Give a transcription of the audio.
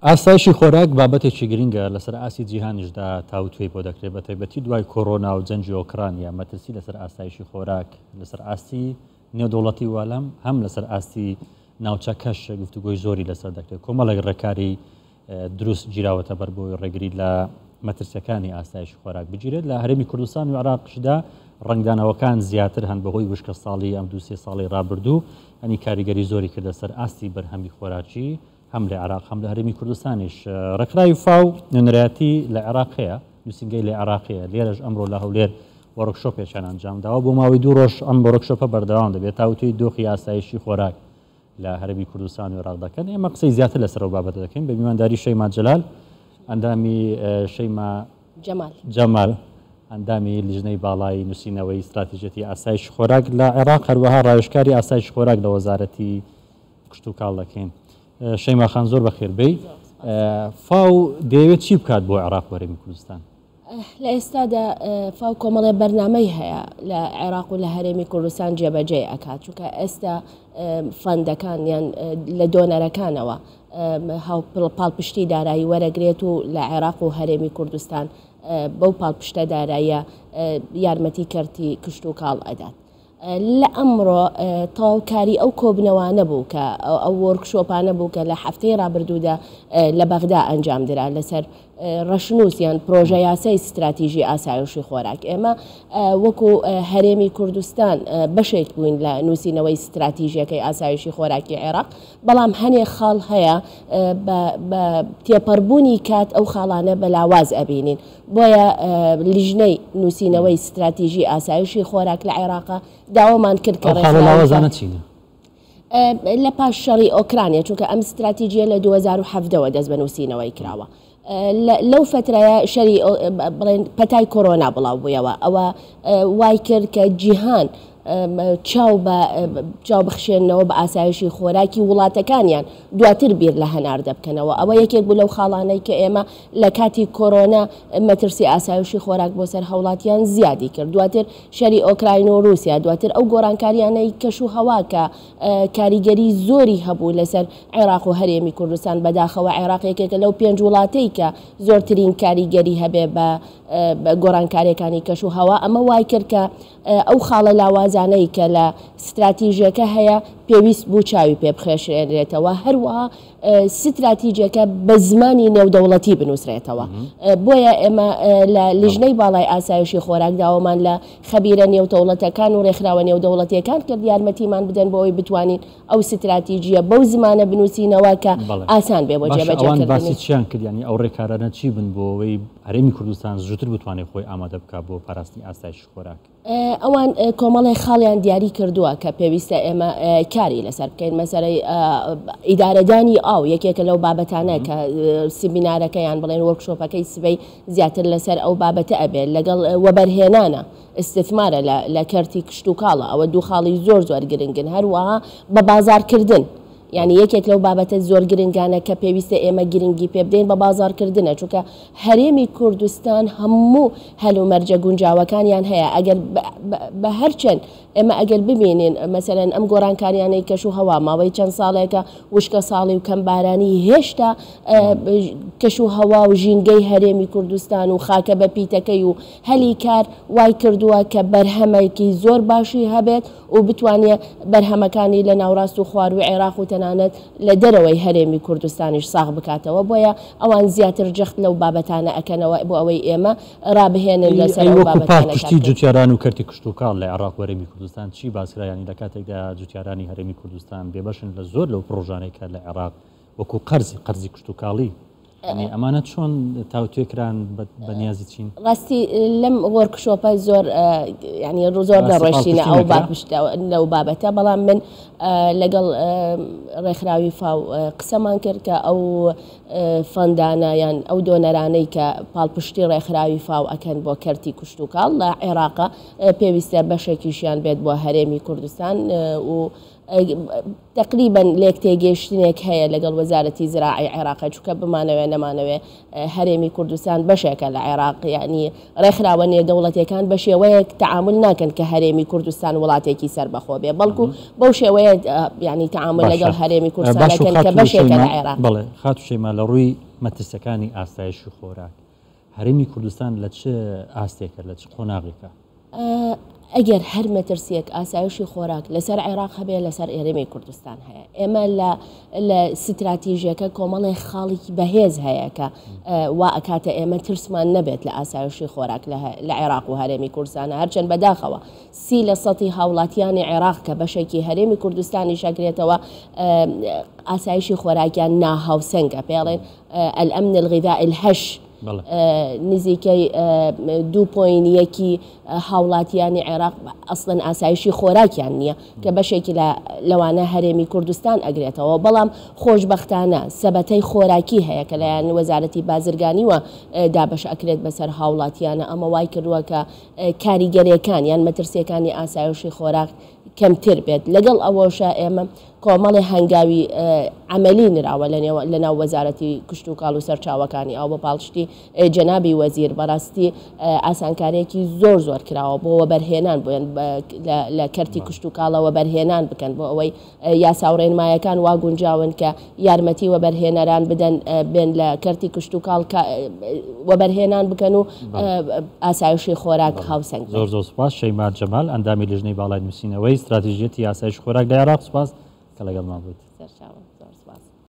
ئاسایشی خۆراک بابەتێکی گرنگە لەسەر ئاستی جیهانیشدا تاوتوێی بۆ دەکرێت، بەتایبەتی دوای کۆرۆنا و جەنگی ئۆکرانیا مەترسی لەسەر ئاسایشی خۆراک لەسەر ئاستی نێودەوڵەتی و لەم هەم لەسەر ئاستی ناوچەکەش گفتوگۆی زۆری لەسەر دەکرێت. کۆمەڵێک ڕێکاری دروست گیراوەتە بەر بۆی ڕێگری لە مەترسیەکانی ئاسایشی خۆراک بگیرێت. لە هەرێمی کوردستان و عێراقشدا ڕەنگدانەوەکان زیاتر هەن بەهۆی وشکە ساڵی ئەم دوو سێ ساڵی ڕابردوو ئەنی کاریگەری زۆری کردە سەر ئاستی بەرهەمی خۆراکی هەم لە عێراق هەم لە هەرێمی کوردستانیش. ڕێکخراوی فاو نوێنەرایەتی لە عێراق هەیە، نووسینگەی لە عێراق هەیە، لێرەش ئەمڕۆ لە هەولێر وۆرکشۆپێکیان ئەنجامداوە، بۆ ماوەی دوو ڕۆژ ئەم وۆرکشۆپە بەردەوام دەبێت تاوتوێی دۆخی ئاسایشی خۆراک لە هەرێمی کوردستان و عێراق دەکەن. ئێمە قسەی زیاتر لەسەر ئەو بابەتە دەکەین بە میوانداری شەیما جەلال، ئەندامی شەیما جەمال جەمال، ئەندامی لیژنەی باڵای نووسینەوەی ستراتیژیەتی ئاسایشی خۆراک لە عێراق، هەروەها ڕاوێژکاری ئاسایشی خۆراک لە وەزارەتی کشتوکاڵ دەکەین. شەیما خان زۆر بەخێر بێی. فاو دەیەوێت چی بکات بۆ عێراق و هەرێمی کوردستان؟ لە ئێستادا فاو کۆمەڵێ بەرنامەی هەیە لە عێراق و لە هەرێمی کوردستان جێبەجێی ئەکات، چونکە ئێستا فەندەکان یان لە دۆنەرەکانەوە پاڵپشتی دارایی وەرەگرێت و لە عێراق و هەرێمی کوردستان بەو پاڵپشتە داراییە یارمەتی کەرتی کشتوکاڵ ئەدات. لە ئەمڕۆ تەواوکاری ئەو کۆبنەوانە بوو کە ئەو وۆرکشۆپانە بوو کە لە هەفتەی ڕابردوودا لە بەغدا ئەنجام درا لەسەر ڕەشنووس یان پرۆژە یاسای ستراتیژی ئاسایشی خۆراک. ئێمە وەکو هەرێمی کوردستان بەشێک بووین لە نووسینەوەی ستراتیژیەکەی ئاسایشی خۆراکی عێراق، بەڵام هەنێ خاڵ هەیە بە تێپەڕبوونی کات ئەو خاڵانە بە لاواز ئەبینین. بۆیە لیژنەی نووسینەوەی ستراتیژی ئاسایشی خۆراک لە عێراقا داوامان کرد کە ئەو خاڵە لاوازانە چینە؟ لە پاش شەڕی ئۆکرانیا، چونکە ئەم ستراتیژیە لە 2017 ەوە دەست بە نووسینەوەی کراوە. لەو فترەیە شەری بڵێن پەتای کۆرۆنا بڵاو بوویەوە، ئەوە وای کرد کە جیهان چاو بە چاو بخشێننەوە بە ئاسایشی خۆراکی وڵاتەکانیان، دواتر بیر لە هەناردە بکەنەوە. ئەوە یەکێک بوو لەو خاڵانەی کە ئێمە لە کاتی کۆرۆنا مەترسی ئاسایشی خۆراک بۆ سەر هاوڵاتیان زیادی کرد. دواتر شەری ئۆکراین و رووسیا، دواتر ئەو گۆڕانکاریانەی کەش و هەوا کە کاریگەری زۆری هەبوو لەسەر عێراق و هەرێمی کوردستان. بەداخەوە عێراق یەکێکە لەو پێنج وڵاتەی کە زۆرترین کاریگەری هەبێ بە گۆڕانکاریەکانی کەش و هەوا. ئەمە وای کرد کە ئەو خاڵە لاوازانەی کە لە ستراتیژەکە هەیە پێویست بوو چاوی پێ بخێشرێنرێتەوە، هەروەها ستراتیجەکە بە زمانی نێودەوڵەتی بنووسرێتەوە. بۆیە ئێمە لە لیژنەی باڵای ئاسایشی خۆراک داوامان لە خەبیرە نێودەوڵەتەکان و ڕێکخراوە نێودەوڵەتیەکان کرد یارمەتیمان بدەن بۆ ئەوەی بتوانین ئەو ستراتیجیە بەو زمانە بنووسینەوە کە ئاسان بێ بۆ جێبەجێکردنی. باشە ئەوان باسی چیان کرد، یانی ئەو ڕێکارانە چی بن بۆ ئەوەی هەرێمی کوردستان زووتر بتوانێت خۆی ئامادە بکات بۆ پاراستنی ئاسایشی خۆراک؟ ئەوان کۆمەڵێک خاڵیان دیاری کردووە کە پێویستە ئێمە کاری لەسەر بکەین. مەسەلەی ئیدارەدانی ئاو یەکێکە لەو بابەتانە کە سیمینارەکە یان بڵێن وۆرکشۆپەکەی سبەی زیاتر لەسەر ئەو بابەتە ئەبێت، لەگەڵ وەبەرهێنانە ئیستثمارە لە کەرتی کشتوکاڵە. ئەوە دوو خاڵی زۆر زۆر گرنگن. هەروەها بە بازاڕکردن، یانی یەکێک لەو بابەتە زۆر گرنگانە کە پێویستە ئێمە گرنگی پێ بدەین بە بازاڕکردنە، چونکە هەرێمی کوردستان هەموو هەلومەرجە گونجاوەکانیان هەیە. ئەگەر بە هەرچەند ئێمە ئەگەر ببینین مەسەلەن ئەم گۆڕانکاریانەی کەش و هەوا ماوەی چەند ساڵێکە وشکە ساڵی و کەمبارانی، هێشتا کەش و هەوا و ژینگەی هەرێمی کوردستان و خاکە بە پیتەکەی و هەلی کار وای کردووە کە بەرهەمێکی زۆر باشی هەبێت و بتوانێ بەرهەمەکانی لە ناوڕاست و خوارووی عێراق و تەنانەت لە دەرەوەی هەرێمی کوردستانیش ساغ بکاتەوە، بۆیە ئەوان زیاتر جەخت لەو بابەتانە ئەکەنەوە بۆ ئەوەی ئێمە ڕابهێنن لەسەر ئەی ئەو وەکو بابەتانە کار پاڵپشتی بکەین. جوتیاران و کەرتی کشتوکاڵ لە عێراق و هەرێمی کوردستان چی باسکرا، یانی لە کاتێکدا جوتیارانی هەرێمی کوردستان بێبەشن لە زۆر لەو پڕۆژانەی کە لە عێراق وەکو قەرزی قەرزی کشتوکاڵی، یانی ئەمانە چۆن تاوتوێ کران بە نیازی چین؟ ڕاستی لەم وۆرکشۆپە زۆر یانی زۆر نەڕۆشتینە ئەو بابشتە لەو بابەتە، بەڵام من لەگەڵ ڕێکخراوی فاو قسەمان کرد کە ئەو فەندانە یان ئەو دۆنەرانەی کە پاڵپشتی ڕێکخراوی فاو ئەکەن بۆ کەرتی کوشتوکاڵ لە عێراقا پێویستە بەشێکیشیان بێت بۆ هەرێمی کوردستان و تەقریبەن لێکتێگەیشتنێک هەیە لەگەڵ وەزارەتی زراعی عێراق چونکە بمانەوێ نەمانەوێ هەرێمی کوردستان بەشێکە لە عێراق یعنی ڕێکخراوە نێودەوڵەتیەکان بە شێوەیەک تەعامول ناکەن کە هەرێمی کوردستان وڵاتێکی سەربەخۆ بێ بەڵکو بەو شێوەیە یعنی تەعامول لەگەڵ هەرێمی کوردستان دەکەن کە بەشێکە لە عێراق. بەڵێ خاتوو شەیما لە ڕووی مەترسیەکانی ئاسایشی خۆراک هەرێمی کوردستان لە چ ئاستێکە لە چ قۆناغێکە؟ ئەگەر هەر مەترسیەک ئاسایشی خۆراک لەسەر عێراق هەبێ لەسەر هەرێمی کوردستان هەیە ئێمە لە لە ستراتیژیەکە کۆمەڵێ خاڵێکی بەهێز هەیە کە وا ئەکاتە ئێمە ترسمان نەبێت لە ئاسایشی خۆراک لە عێراق و هەرێمی کوردستانە هەرچەند بەداخەوە سی لە سەتی هاوڵاتیانی عێراق کە بەشێکی هەرێمی کوردستانیش ئەگرێتەوە ئاسایشی خۆراکیان ناهاوسەنگە پێڵێن الامن الغذاء الهش نزیکەی دوو پۆین یەکی هاوڵاتیانی عێراق ئەسڵەن ئاسایشی خۆراکیان نییە کە بەشێکی لە لەوانە هەرێمی کوردستان ئەگرێتەوە بەڵام خۆشبەختانە سەبەتەی خۆراکی هەیە کە لایەن وەزارەتی بازرگانیوە دابەش ئەکرێت بەسەر هاوڵاتیانە ئەمە وای کردووە کە کاریگەریەکان یان مەترسیەکانی ئاسایشی خۆراک کەمتر بێت لەگەڵ ئەوەشا ئێمە کۆمەڵێ هەنگاوی عەمەلی نراوە لەناو وەزارەتی کشتوکاڵ و سەرچاوەکانی ئاو بە پاڵپشتی جەنابی وەزیر بەڕاستی ئاسانکاریەکی زۆر زۆر کراوە بۆ وەبەرهێنان بۆیان لە کەرتی کشتوکاڵە وەبەرهێنان بکەن بۆ ئەوەی یاسا و ڕێنمایەکان وا گونجاون کە یارمەتی وەبەرهێنەران بدەن بێن لە کەرتی کشتوکاڵ وەبەرهێنان بکەن و ئاسایشی خۆراک هاوسەنگ زۆر زۆر سوپاس شەیما جەمال ئەندامی لیژنەی باڵای نووسینەوەی ستراتیژیەتی ئاسایشی خۆراک لە عێراق سوپاس کە لەگەڵمان بوویت. سەرچاوم.